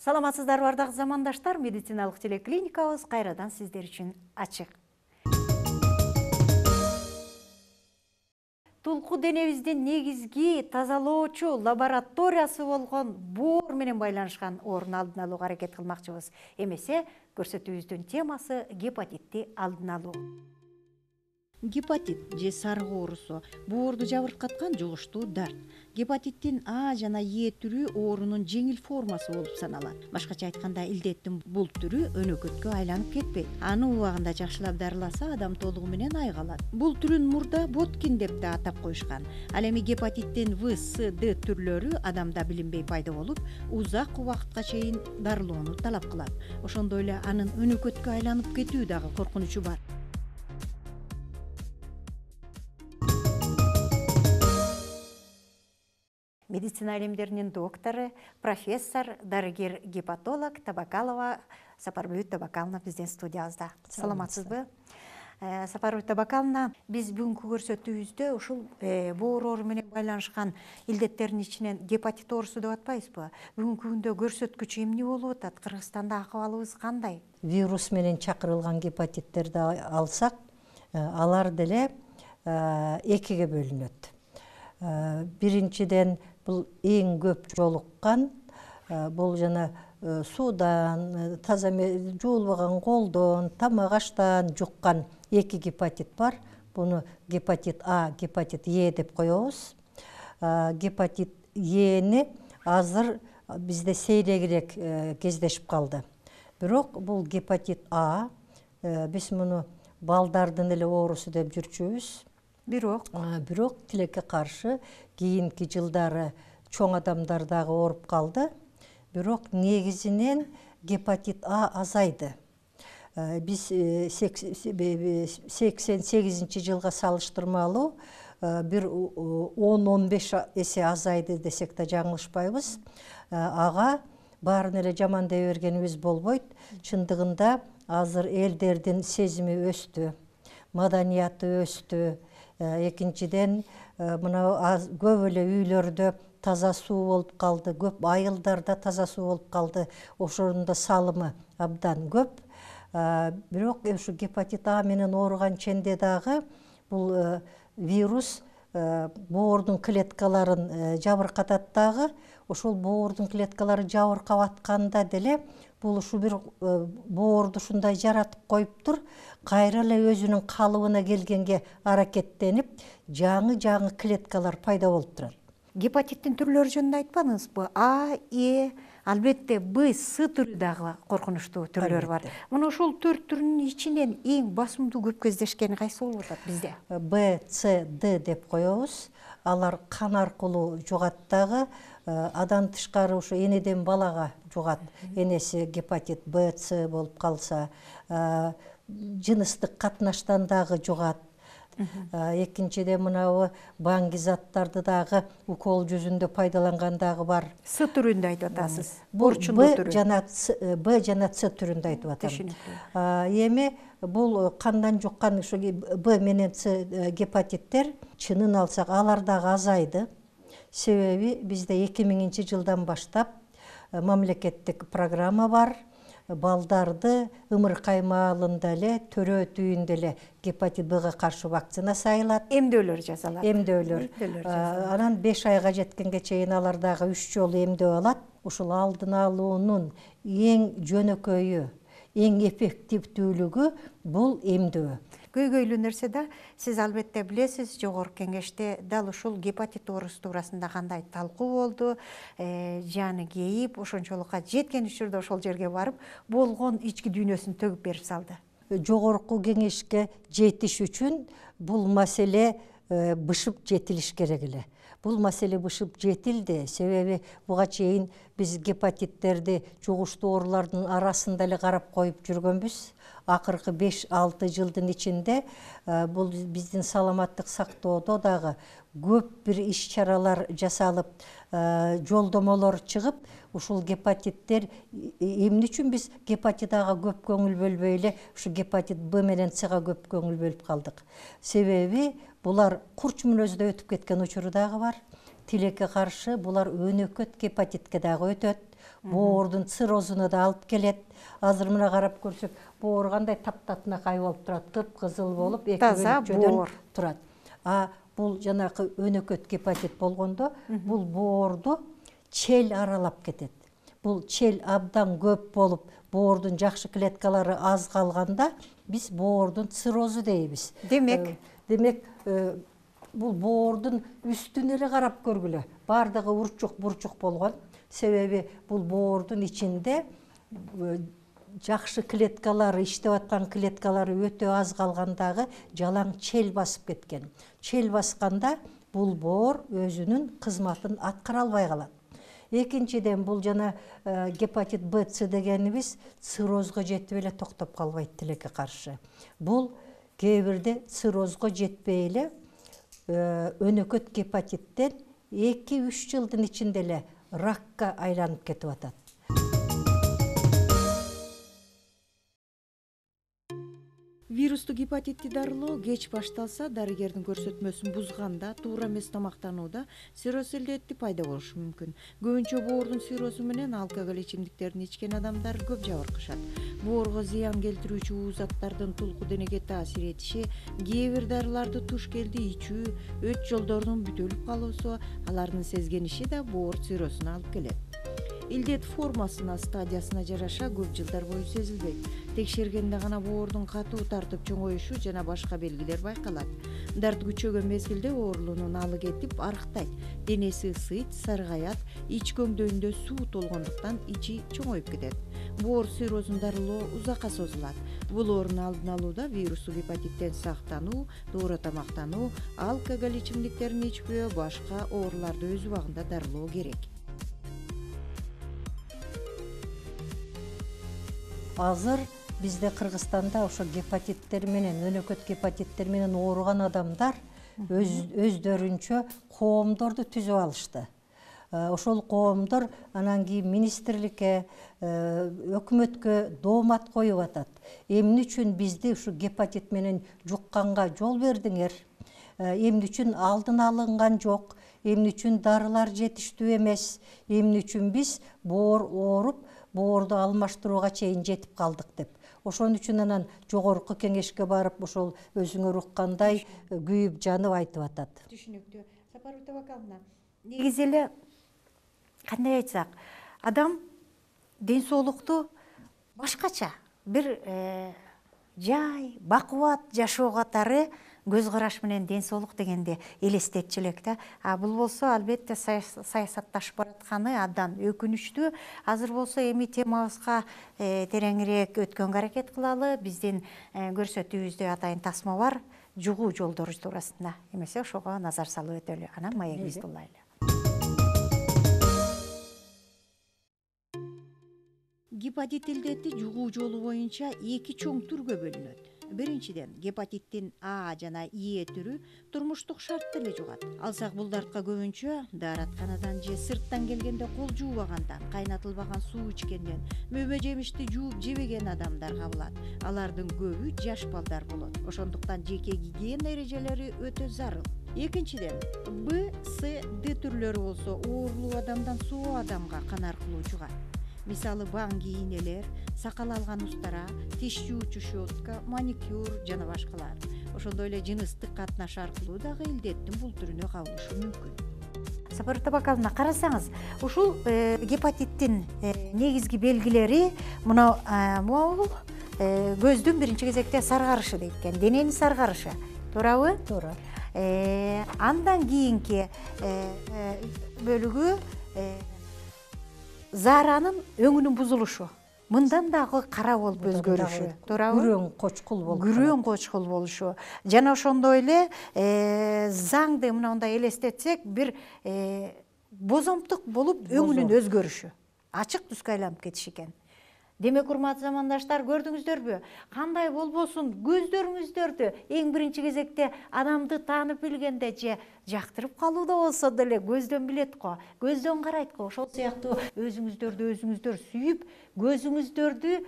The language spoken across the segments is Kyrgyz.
Саламатсыздарбы бардык замандаштар, медициналык телеклиникабыз кайрадан сиздер үчүн ачык. Тулку денебиздин негизги тазалоочу лабораториясы болгон боор менен байланышкан оорун алдын алууга аракет кылмакчыбыз. Эмесе, көрсөтүүбүздүн темасы гепатитти алдын алуу. Гепатит же сарык оорусу боорду жабыркаткан жугуштуу дарт. Гепатиттин А жана Е түрү оорунун жеңил формасы болуп саналат. Башкача айтканда, илдеттин бул түрү өнөкөткө айланып кетпейт. Аны убагында жакшылап дарыласа, адам толугу менен айыга. Бул түрүн мурда Боткин деп да атап коюшкан. Ал эми гепатиттин В, С, Д түрлөрү адамда билинбей пайда болуп, узак убакытка чейин дарылоону талап кылат. Ошондой эле анын өнөкөткө айланып кетүү дагы коркунучу бар. Медицина илимдеринин доктору, профессор, дарыгер-гепатолог Табакалова Сапарбүй Табакаловна биздин студиябызда. Саламатсызбы? Сапарбүй Табакаловна, биз бүгүнкү көрсөтүүбүздө ушул боор оору менен байланышкан илдеттердин ичинен гепатит оорусу деп атпайбызбы? Бүгүнкү күндө көрсөткүчү эмне болуп атат? Кыргызстанда акыбалыбыз кандай? Вирус менен чакырылган гепатиттерди алсак, алар деле экиге бөлүнөт. Биринчиден бул эң көп жолуккан, бул жана суудан, таза жуулбаган колдон, тамак аштан жуккан эки гепатит бар. Буну гепатит А, гепатит Е деп коебуз. Гепатит Эни азыр бизде сейрегирээк кездешип калды. Бирок бул гепатит А, биз муну балдардын эле оорусу деп жүрчүбүз. Бирок тилекке каршы кийинки жылдары чоң адамдар дагы ооруп калды. Бирок негизинен гепатит А азайды. Биз 88 жылга салыштырмалуу бир 10-15 эсе азайды десек да жаңылышпайбыз. Ага баарын эле жаман дей бергенибиз болбойт. Чындыгында азыр элдердин сезими өстү, маданияты өстү. Экинчиден, мына көп эле үйлөрдө таза суу болуп калды, көп айылдарда таза суу болуп калды. Ошонун да салымы абдан көп. Бирок ушу гепатит А менен ооруган ченде дагы бул вирус боордун клеткаларын жабыркатат дагы. Ошол боордун клеткалары жабыркап атканда деле бул ушу бир боорду ушундай жаратып коюптур. Кайра эле өзүнүн калыбына келгенге аракеттенип, жаңы клеткалар пайда болуп турат. Гепатиттин түрлөрү жөнүндө айтпадыңызбы? А, Е, албетте Б, С түрү дагы коркунучтуу түрлөр бар. Мына ушул 4 түрүнүн ичинен эң басымдуу көп кездешкени кайсы болуп атат бизде? Б, С, Д деп коебуз. Алар кан аркылуу жугат дагы. Адан тышкары ушу энеден балага жугат. Энеси гепатит Б, С болуп калса, жыныстык катнаштан дагы жугат. Экинчиден мынабу баңги заттарды дагы укол жүзүндө пайдаланган дагы бар. С түрүндө айтып атасыз. Б жана С түрүндө айтып атам. Эми бул кандан жуккан ушу Б менен С гепатиттер чынын алсак алар дагы азайды. Себеби бизде 2000-жылдан баштап мамлекеттик программа бар. Балдарды ымыркай маалында эле, төрө түйүндө эле гепатит Бга каршы вакцина сайылат. Эмдөөлөр жасалат. Эмдөөлөр. Анан 5 айга жеткенге чейин алар дагы 3 жолу эмдөө алат. Ушул алдын алуунун эң жөнөкөйү, эң эффективдүүлүгү бул эмдөө. Көйгөйлүү нерсе да, сиз албетте билесиз, жогорку кеңеште дал ушул гепатит оорусу туурасында кандай талкуу болду, жаны кейип, ошончолукка жеткен учурда ошол жерге барып, болгон ички дүйнөсүн төгүп берип салды. Жогорку кеңешке жетиш үчүн бул маселе бышып жетилиш керек эле. Бул маселе бышып жетилди, себеби буга чейин биз гепатиттерди жугуштуу оорулардын арасында эле карап коюп жүргөнбүз. Акыркы 5-6 жылдын ичинде бул биздин саламаттык сактоодо дагы көп бир иш-чаралар жасалып, жолдомолор чыгып, ушул гепатиттер эмне үчүн биз гепатит Ага көп көңүл бөлбөй эле ушу гепатит Б менен Сга көп көңүл бөлүп калдык. Себеби булар курч мүнөздө өтүп кеткен учуру дагы бар. Тилекке каршы булар өнөкөт гепатитке дагы өтөт. боордун циррозуна да алып келет. Азыр мына карап көрсөк, боор кандай таптатынакай болуп турат, кыпкызыл болуп, эки бөлүкчөдөн турат. Бул жанакы өнөкөт гепатит болгондо, бул боорду чел аралап кетет. Бул чел абдан көп болуп, боордун жакшы клеткалары аз калганда биз боордун циррозу дейбиз. Демек, бул боордун үстүнө эле карап көргүлө. Бардыгы урчук-бурчук болгон. Себеби бул боордун ичинде жакшы клеткалары, иштеп аткан клеткалары өтө аз калгандагы жалаң чел басып кеткен. Чел басканда бул боор өзүнүн кызматын аткара албай калат. Экинчиден, бул жана гепатит Б, С дегенибиз циррозго жетип эле токтоп калбайт тилекке каршы. Бул кээ бирде циррозго жетпей эле өнөкөт гепатиттен 2-3 жылдын ичинде эле ракка айланып кетип атат. Вирустук гепатитти дарылоо кеч башталса, дарыгердин көрсөтмөсүн бузганда, туура эмес тамактанууда цирроз илдети пайда болушу мүмкүн. Көбүнчө боордун циррозу менен алкоголь ичимдиктерин ичкен адамдар көп жабыркашат. Боорго зыян келтирүүчү уу заттардын тулку денеге таасир этиши, кээ бир дарыларды туш келди ичүү, өт жолдорунун бүтөлүп калуусу, алардын сезгениши да боор циррозуна алып келет. Илдет формасына, стадиясына жараша көп жылдар бою сезилбейт. Текшергенде гана боордун катуу тартып чоңоюшу жана башка белгилер байкалат. Дарт күчөгөн мезгилде оорулуунун алы кетип, арыктайт. Денеси ысыйт, саргаят, ич көңдөйүндө суу толгондуктан ичи чоңоюп кетет. Боор циррозун дарылоо узакка созулат. Бул оорун алдын алууда вирустук гепатиттен сактануу, туура тамактануу, алкоголь ичимдиктерин ичпөө, башка ооруларды өз убагында дарылоо керек. Азыр бизде Кыргызстанда ошо гепатиттер менен, өнөкөт гепатиттер менен ооруган адамдар өздөрүнчө коомдорду түзүп алышты. Ошол коомдор анан кийин министрликке, өкмөткө доомат коюп атат. Эмне үчүн бизди ушу гепатит менен жукканга жол бердиңер? Эмне үчүн алдын алынган жок? Эмне үчүн дарылар жетиштүү эмес? Эмне үчүн биз боор ооруп, боорду алмаштырууга чейин жетип калдык деп. Ошон үчүн анан жогорку кеңешке барып, ошол өзүңөр уккандай күйүп жанып айтып атат. Түшүнүктүү. Сапар Утабаковна, негизи эле кандай айтсак, адам ден соолукту башкача бир жай, бакубат жашоо катары көз караш менен ден соолук дегенди элестетчү элек да. Бул болсо албетте саясатташып баратканы абдан өкүнүчтүү. Азыр болсо эми темабызга тереңирээк өткөнгө аракет кылалы. Биздин көрсөтүүбүздө атайын тасма бар, жугуу жолдору туурасында. Эмесе ошого назар салып өтөлү. Анан маегибизди улайлы. Гепатит илдети жугуу жолу боюнча 2 чоң түргө бөлүнөт. Биринчиден, гепатиттин А жана Е түрү турмуштук шартта эле жугат. Алсак бул дартка көбүнчө дааратканадан же сырттан келгенде кол жуубагандан, кайнатылбаган суу ичкенден, мөбө жемишти жууп жебеген адамдар кабылат. Алардын көбү жаш балдар болот. Ошондуктан жеке гигиена эрежелери өтө зарыл. Экинчиден, Б, С, Д түрлөрү болсо оорулуу адамдан соо адамга кан аркылуу жугат. Мисалы баңги ийнелер, сакал алган устара, тиш жуучу щетка, маникюр жана башкалар. Ошондой эле жыныстык катнаш аркылуу дагы илдеттин бул түрүнө кабылышы мүмкүн. Сапар Утабаковна, карасаңыз, ушул гепатиттин негизги белгилери мына бул көздүн биринчи кезекте саргарышы дейт экен, дененин саргарышы. Туурабы? Туура. Андан кийинки бөлүгү зааранын өңүнүн бузулушу. Мындан дагы кара болуп өзгөрүшү. Туурабы? Күрөң кочкул болуп. Күрөң кочкул болушу. Жана ошондой эле заңды мындай элестетсек, бир бозомтук болуп өңүнүн өзгөрүшү. Ачык түскө айланып кетиш экен. Демек, урматтуу замандаштар, көрдүңүздөрбү? Кандай болбосун көздөрүңүздөрдү эң биринчи кезекте адамды таанып билгенде же жактырып калууда болсо деле көздөн билет го, көздөн карайт го. Ошол сыяктуу өзүңүздөр сүйүп, көзүңүздөрдү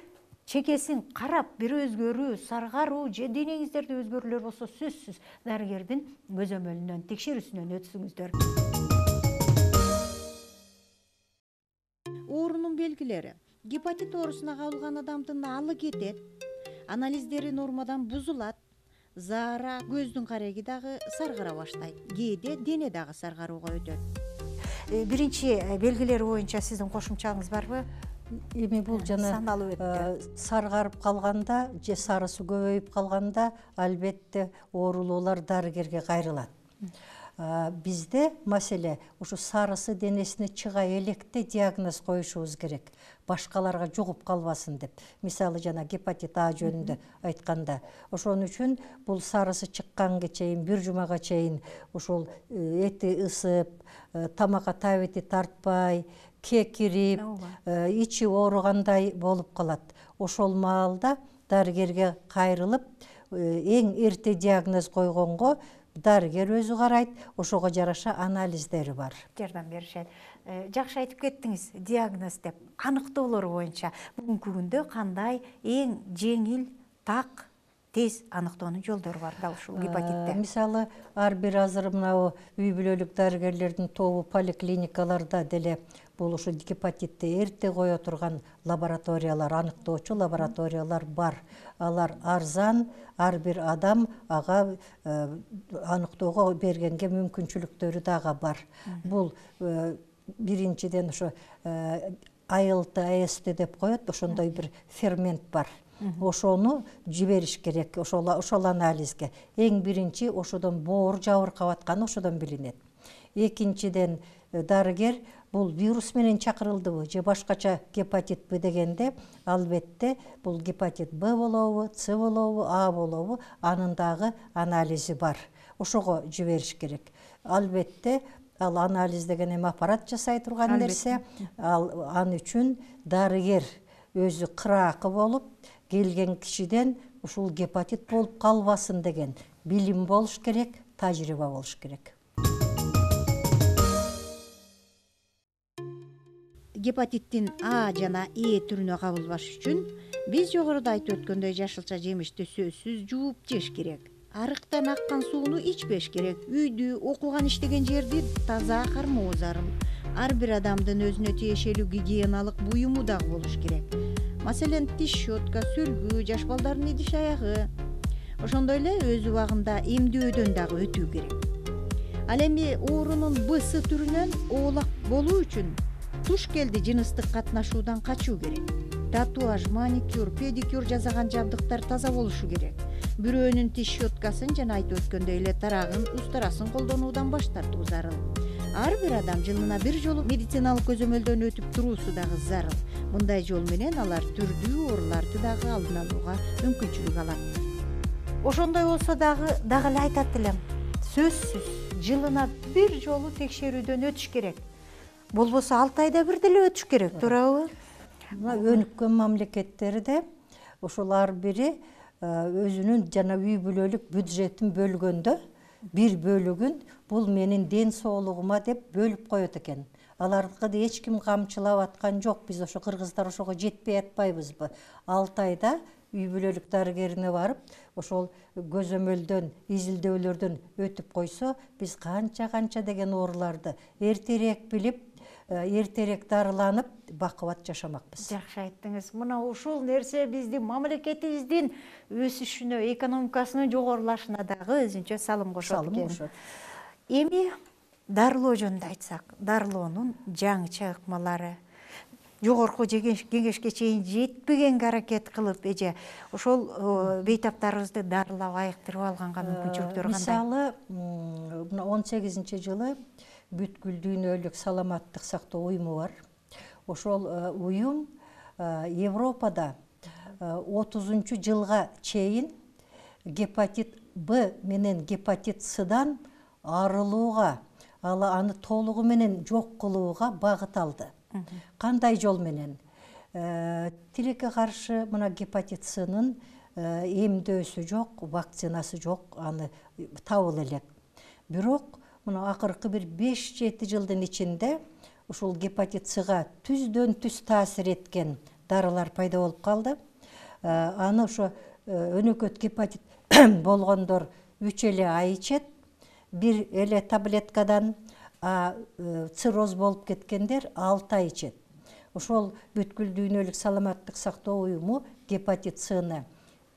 чекесин карап бир өзгөрүү, саргаруу же денеңиздерде өзгөрүүлөр болсо сөзсүз дарыгердин көзөмөлүнөн, текшерүүсүнөн өтсүңүздөр. Оорунун белгилери. Гепатит оорусуна кабылган адамдын алы кетет, анализдери нормадан бузулат, заара, көздүн кареги дагы саргара баштайт, кээде дене дагы саргарууга өтөт. Биринчи белгилери боюнча сиздин кошумчаңыз барбы? Эми бул жана Саналып өттү. саргарып калганда же сарысы көбөйүп калганда албетте оорулуулар дарыгерге кайрылат. Бизде маселе ушу сарысы денесине чыга электе диагноз коюшубуз керек, башкаларга жугуп калбасын деп. Мисалы жана гепатит А жөнүндө айтканда, ошон үчүн бул сарысы чыкканга чейин, бир жумага чейин ушул эти ысып, тамакка табити тартпай, кекирип, ичи ооругандай болуп калат. Ошол маалда дарыгерге кайрылып, эң эрте диагноз койгонго дарыгер өзү карайт, ошого жараша анализдери бар. Жардам беришет. Жакшы айтып кеттиңиз, диагноз деп. Аныктоолор боюнча бүгүнкү күндө кандай эң жеңил, так, тез аныктоонун жолдору бар дал ушул гепатитте? Мисалы, ар бир азыр мына үй бүлөлүк дарыгерлердин тобу поликлиникаларда деле бул ушу гепатитти эрте кое турган лабораториялар, аныктоочу лабораториялар бар. Алар арзан, ар бир адам ага аныктоого бергенге мүмкүнчүлүктөрү дагы бар. Бул биринчиден ошо ALT деп коет, ошондой бир фермент бар. Ошону жибериш керек, ошол анализге. Эң биринчи ошодон боор жабыркап атканы ошодон билинет. Экинчиден дарыгер бул вирус менен чакырылдыбы же башкача гепатитпи дегенде, албетте бул гепатит Б болобу, С болобу, А болобу, анын дагы анализи бар. Ошого жибериш керек. Албетте ал анализ деген эми аппарат жасай турган нерсе, ал үчүн дарыгер өзү кыраакы болуп, келген кишиден ушул гепатит болуп калбасын деген билим болуш керек, тажрыйба болуш керек. Гепатиттин А жана Е түрүнө кабылбаш үчүн биз жогоруда айтып өткөндөй жашылча жемишти сөзсүз жууп жеш керек. Арыктан аккан сууну ичпеш керек. Үйдү, окуган иштеген жерди таза кармоо зарыл. Ар бир адамдын өзүнө тиешелүү гигиеналык буюму дагы болуш керек. Маселен, тиш щетка, сүлгү, жаш балдардын идиш аягы. Ошондой эле өз убагында эмдөөдөн дагы өтүү керек. Ал эми оорунун Б-С түрүнөн оолак болуу үчүн туш келди жыныстык катнашуудан качуу керек. Татуаж, маникюр, педикюр жасаган жабдыктар таза болушу керек. Бирөөнүн тиш щеткасын жана айтып өткөндөй эле тарагын, устарасын колдонуудан баш тартуу зарыл. Ар бир адам жылына бир жолу медициналык көзөмөлдөн өтүп туруусу дагы зарыл. Мындай жол менен алар түрдүү ооруларды дагы алдын алууга мүмкүнчүлүк алат. Ошондой болсо дагы эле айтат элем, сөзсүз жылына бир жолу текшерүүдөн өтүш керек. Болбосо 6 айда бир деле өтүш керек, туурабы? Өнүккөн мамлекеттерде ошол ар бири өзүнүн жана үй бүлөлүк бюджетин бөлгөндө бир бөлүгүн бул менин ден соолугума деп бөлүп коет экен. Аларды эч ким камчылап аткан жок. Биз ошо кыргыздар ошого жетпей атпайбызбы? 6 айда үй бүлөлүк дарыгерине барып, ошол көзөмөлдөн, изилдөөлөрдөн өтүп койсо, биз канча деген ооруларды эртерээк билип, эртерээк дарыланып, бакубат жашамакпыз. Жакшы айттыңыз. Мына ушул нерсе биздин мамлекетибиздин өсүшүнө, экономикасынын жогорулашына дагы өзүнчө салым кошот экен. Эми дарылоо жөнүндө айтсак, дарылоонун жаңыча ыкмалары, жогорку кеңешке чейин жетпегенге аракет кылып, эже ошол бейтаптарыбызды дарылап айыктырып алганга мүмкүнчүлүктөр кандай? Мисалы, 18-жылы бүткүл дүйнөлүк саламаттык сактоо уюму бар. Ошол уюм Европада 30-жылга чейин гепатит Б менен гепатит Сдан арылууга, аны толугу менен жок кылууга багыт алды. Кандай жол менен? Тилекке каршы мына гепатит Сынын эмдөөсү жок, вакцинасы жок, аны табыла элек. Бирок мына акыркы бир 5-7 жылдын ичинде ушул гепатит Сга түздөн түз таасир эткен дарылар пайда болуп калды. Аны ошо өнөкөт гепатит болгондор 3 эле ай ичет, бир эле таблеткадан, цирроз болуп кеткендер 6 ай ичет. ошол бүткүл дүйнөлүк саламаттык сактоо уюму гепатит Цны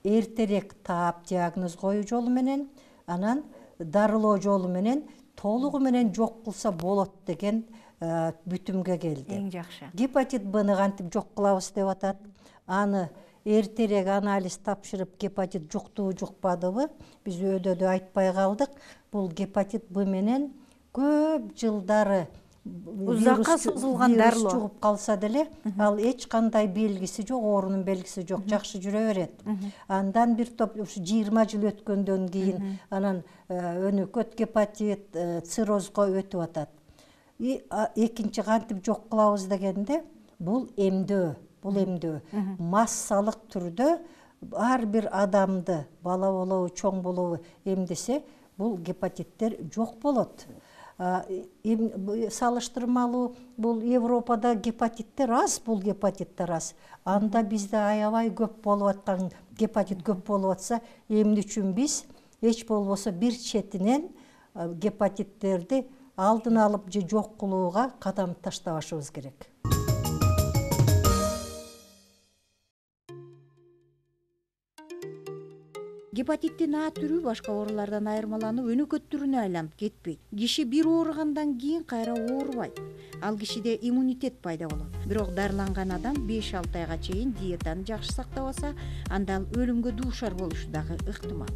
эртерээк таап диагноз коюу жолу менен, анан дарылоо жолу менен толугу менен жок кылса болот деген бүтүмгө келди. Эң жакшы. Гепатит Бны кантип жок кылабыз деп атат. Аны эртерээк анализ тапшырып, гепатит жуктубу, жукпадыбы, биз өйдө айтпай калдык. Бул гепатит Б менен көп жылдары узакка созулган дарылоо жугуп калса деле, ал эч кандай белгиси жок, оорунун белгиси жок, жакшы жүрө берет. Андан бир топ ушу 20 жыл өткөндөн кийин анан өнөкөт гепатит, циррозго өтүп атат. Экинчи кантип жок кылабыз дегенде, бул эмдөө. Бул эмдөө массалык түрдө ар бир адамды, бала болобу, чоң болобу эмдесе, бул гепатиттер жок болот. Салыштырмалуу бул Европада гепатиттер аз, бул гепатиттер аз. Анда бизде аябай көп болуп аткан гепатит көп болуп атса, эмне үчүн биз эч болбосо бир четинен гепатиттерди алдын алып же жок кылууга кадам таштабашыбыз керек. Гепатиттин А түрү башка оорулардан айырмаланып өнөкөт түрүнө айланып кетпейт. Киши бир ооругандан кийин кайра оорубайт. Ал кишиде иммунитет пайда болот. Бирок дарыланган адам 5-6 айга чейин диетаны жакшы сактабаса, анда ал өлүмгө дуушар болушу дагы ыктымал.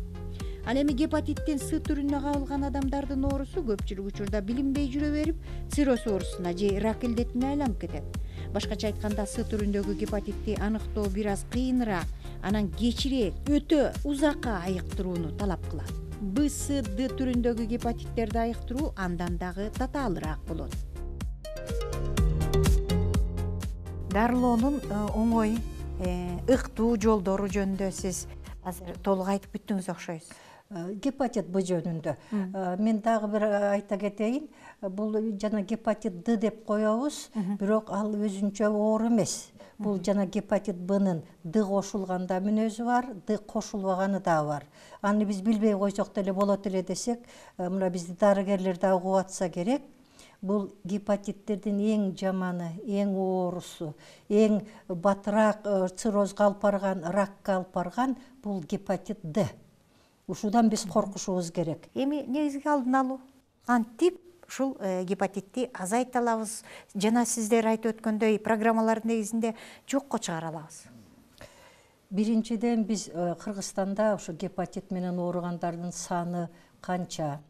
Ал эми гепатиттин С түрүнө кабылган адамдардын оорусу көпчүлүк учурда билинбей жүрө берип, цирроз оорусуна же рак илдетине айланып кетет. Башкача айтканда, С түрүндөгү гепатитти аныктоо бир аз кыйыныраак, анан кечирээк, өтө узакка айыктырууну талап кылат. Б, С, Д түрүндөгү гепатиттерди айыктыруу андан дагы татаалыраак болот. Дарылоонун оңой, ыктуу жолдору жөнүндө сиз азыр толук айтып бүттүңүз окшойсуз. Гепатит Б жөнүндө мен дагы бир айта кетейин. Бул жана гепатит Д деп коебуз, бирок ал өзүнчө оору эмес. Бул жана гепатит Бнын Д кошулганда мүнөзү бар, Д кошулбаганы да бар. Аны биз билбей койсок деле болот эле десек, мына бизди дарыгерлер да угуп атса керек. Бул гепатиттердин эң жаманы, эң оорусу, эң батыраак циррозго алып барган, ракка алып барган бул гепатит Д. Ушудан биз коркушубуз керек. Эми негизги алдын алуу кантип ушул гепатитти азайта алабыз? Жана сиздер айтып өткөндөй программалардын негизинде жокко чыгара алабыз. Биринчиден биз Кыргызстанда ушу гепатит менен ооругандардын саны канча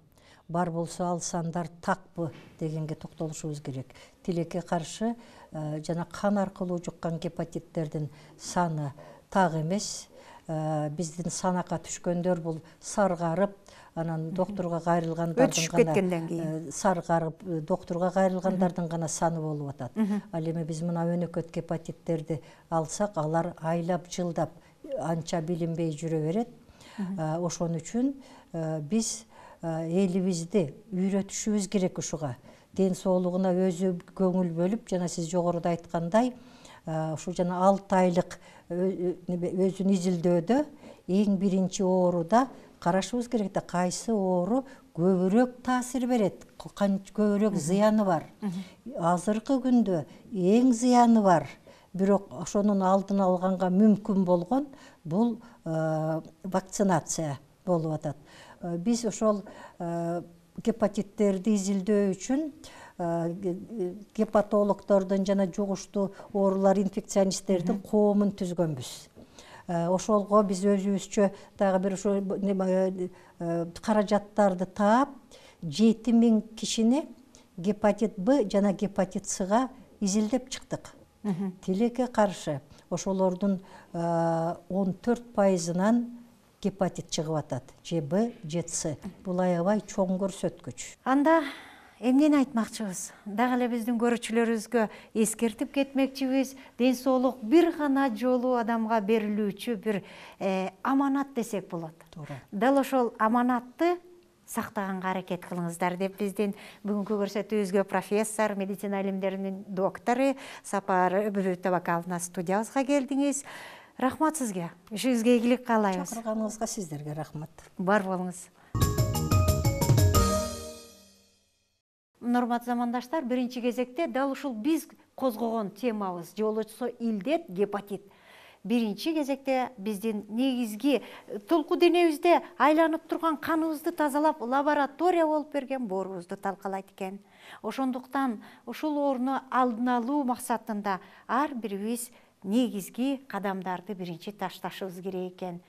бар болсо, ал сандар такпы дегенге токтолушубуз керек. Тилекке каршы жана кан аркылуу жуккан гепатиттердин саны так эмес. Биздин санакка түшкөндөр бул саргарып, анан доктурга кайрылгандардын өтүшүп кеткенден кийин саргарып, доктурга кайрылгандардын гана саны болуп атат. Ал эми биз мына өнөкөт гепатиттерди алсак, алар айлап, жылдап анча билинбей жүрө берет. Ошон үчүн биз элибизди үйрөтүшүбүз керек ушуга. Ден соолугуна өзү көңүл бөлүп, жана сиз жогоруда айткандай, ушу жана 6 айлык өзүн изилдөөдө эң биринчи ооруда карашыбыз керек да, кайсы оору көбүрөөк таасир берет, көбүрөөк зыяны бар. Азыркы күндө эң зыяны бар, бирок ошонун алдын алганга мүмкүн болгон бул вакцинация болуп атат. Биз ошол гепатиттерди изилдөө үчүн гепатологдордун жана жугуштуу оорулар инфекционисттердин коомун түзгөнбүз. Ошолго биз өзүбүзчө дагы бир ошо каражаттарды таап, 7000 кишини гепатит Б жана гепатит Сга изилдеп чыктык. Тилекке каршы ошолордун 14%-ынан гепатит чыгып атат. Же Б, же С. Бул аябай чоң көрсөткүч. Анда эмнени айтмакчыбыз? Дагы эле биздин көрүүчүлөрүбүзгө эскертип кетмекчибиз. Ден соолук бир гана жолу адамга берилүүчү бир аманат десек болот. Дал ошол аманатты сактаганга аракет кылыңыздар деп биздин бүгүнкү көрсөтүүбүзгө профессор, медицина илимдеринин доктору Сапар Табакаловна студиябызга келдиңиз. Рахмат сизге. Ишиңизге ийгилик каалайбыз. Чакырганыңызга сиздерге рахмат. Бар болуңуз. Урматтуу замандаштар, биринчи кезекте дал ушул биз козгогон темабыз жолочусу илдет, гепатит. Биринчи кезекте биздин негизги толку денебизде айланып турган каныбызды тазалап лаборатория болуп берген боорубузду талкалайт экен. Ошондуктан ушул ооруну алдын алуу максатында ар бирибиз негизги кадамдарды биринчи ташташыбыз керек экен.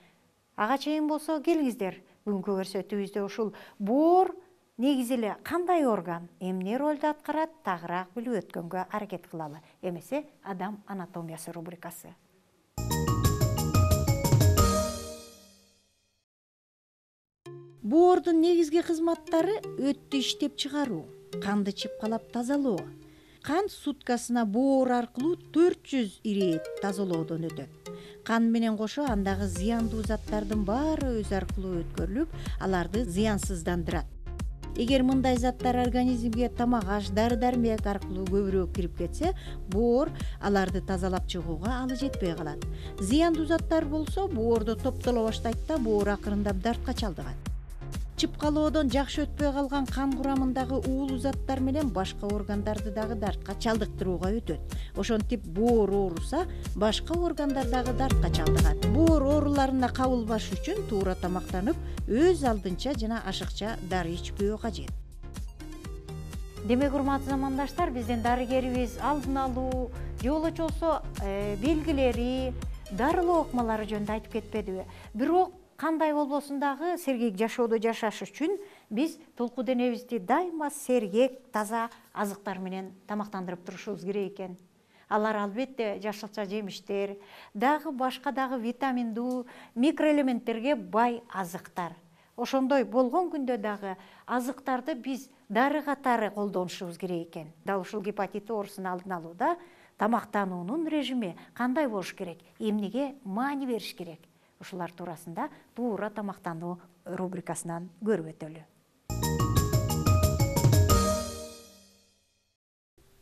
Ага чейин болсо келиңиздер, бүгүнкү көрсөтүүбүздө ушул боор негизи эле кандай орган, эмне ролду аткарат, тагыраак билип өткөнгө аракет кылалы. Эмесе адам анатомиясы рубрикасы. Боордун негизги кызматтары өттү иштеп чыгаруу, канды чыпкалап тазалоо. Кан суткасына боор аркылуу 400 ирет тазалоодон өтөт. Кан менен кошо андагы зыяндуу заттардын баары өз аркылуу өткөрүлүп, аларды зыянсыздандырат. Эгер мындай заттар организмге тамак аш, дары-дармек аркылуу көбүрөөк кирип кетсе, боор аларды тазалап чыгууга алы жетпей калат. Зыяндуу заттар болсо боордо топтоло баштайт да, боор акырындап дартка чалдыгат. Чыпкалоодон жакшы өтпөй калган кан курамындагы уулуу заттар менен башка органдарды дагы дартка чалдыктырууга өтөт. Ошентип боор ооруса, башка органдар дагы дартка чалдыгат. Боор ооруларына кабылбаш үчүн туура тамактанып, өз алдынча жана ашыкча дары ичпөө кажет. Демек, урматтуу замандаштар, биздин дарыгерибиз алдын алуу, жолочосу белгилери, дарылоо ыкмалары жөнүндө айтып кетпедиби? Бирок кандай болбосун дагы сергек жашоодо жашаш үчүн биз толку денебизди дайыма сергек, таза азыктар менен тамактандырып турушубуз керек экен. Алар албетте жашылча жемиштер, дагы башка дагы витаминдүү, микроэлементтерге бай азыктар. Ошондой болгон күндө дагы азыктарды биз дары катары колдонушубуз керек экен. Дал ушул гепатит оорусун алдын алууда тамактануунун режими кандай болуш керек, эмнеге маани бериш керек? Ушулар туурасында туура тамактануу рубрикасынан көрүп өтөлү.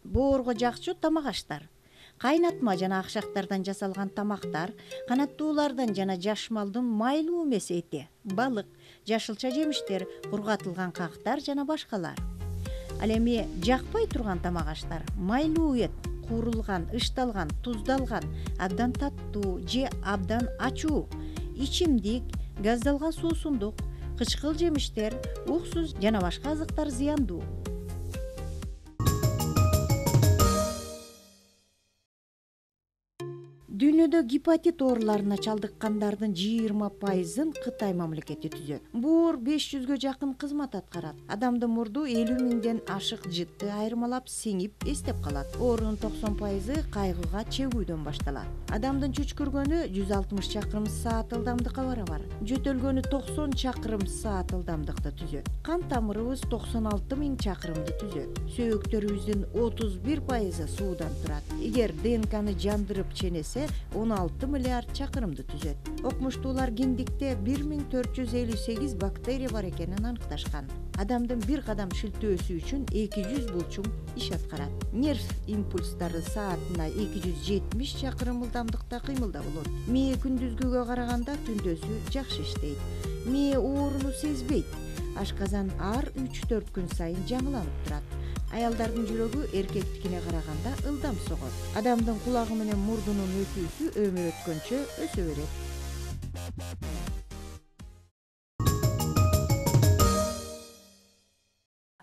Боорго жакчу тамак аштар. Кайнатма жана акшактардан жасалган тамактар, канаттуулардан жана жаш малдын майлуу эмес эти, балык, жашылча жемиштер, кургатылган кактар жана башкалар. Ал эми жакпай турган тамак аштар, майлуу эт, куурулган, ышталган, туздалган, абдан таттуу же абдан ачуу, ичимдик, газдалган суусундук, кычкыл жемиштер, уксус жана башка азыктар зыяндуу. Дүйнөдө гепатит ооруларына чалдыккандардын 20%-ын Кытай мамлекети түзөт. Боор 500гө жакын кызмат аткарат. Адамдын мурду 50 миңден ашык жытты айырмалап сиңип эстеп калат. Оорунун 90%-ы кайгыга чегүүдөн башталат. Адамдын чүчкүргөнү 160 чакырым саат ылдамдыкка барабар. Жөтөлгөнү 90 чакырым саат ылдамдыкты түзөт. Кан тамырыбыз 96 миң чакырымды түзөт. Сөөктөрүбүздүн 31%-ы суудан турат. Эгер ДНКны жандырып ченесе 16 миллиард чакырымды түзөт. Окумуштуулар гендикте 1458 бактерия бар экенин аныкташкан. Адамдын бир кадам шилтөөсү үчүн 200 булчуң иш аткарат. Нерв импульстары саатына 270 чакырым ылдамдыкта кыймылда болот. Мээ күндүзгүгө караганда түндөсү жакшы иштейт. Мээ ооруну сезбейт. Ашказан ар 3-4 күн сайын жаңыланып турат. Аялдардын жүрөгү эркектикине караганда ылдам согот. Адамдын кулагы менен мурдунун өтүүсү өмүр өткөнчө өсө берет.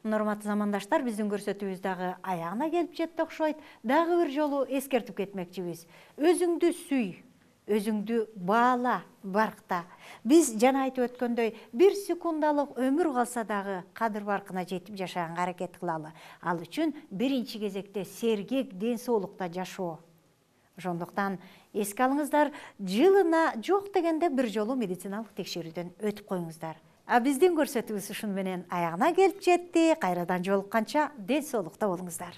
Урматтуу замандаштар, биздин көрсөтүүбүз дагы аягына келип жетти окшойт. Дагы бир жолу эскертип кетмекчибиз. Өзүңдү сүй, өзүңдү баала баркта. Биз жана айтып өткөндөй, 1 секундалык өмүр калса дагы кадыр баркына жетип жашаганга аракет кылалы. Ал үчүн биринчи кезекте сергек ден соолукта жашоо. Ошондуктан эске алыңыздар, жылына жок дегенде бир жолу медициналык текшерүүдөн өтүп коюңуздар. А биздин көрсөтүүбүз ушуну менен аягына келип жетти. Кайрадан жолукканча ден соолукта болуңуздар.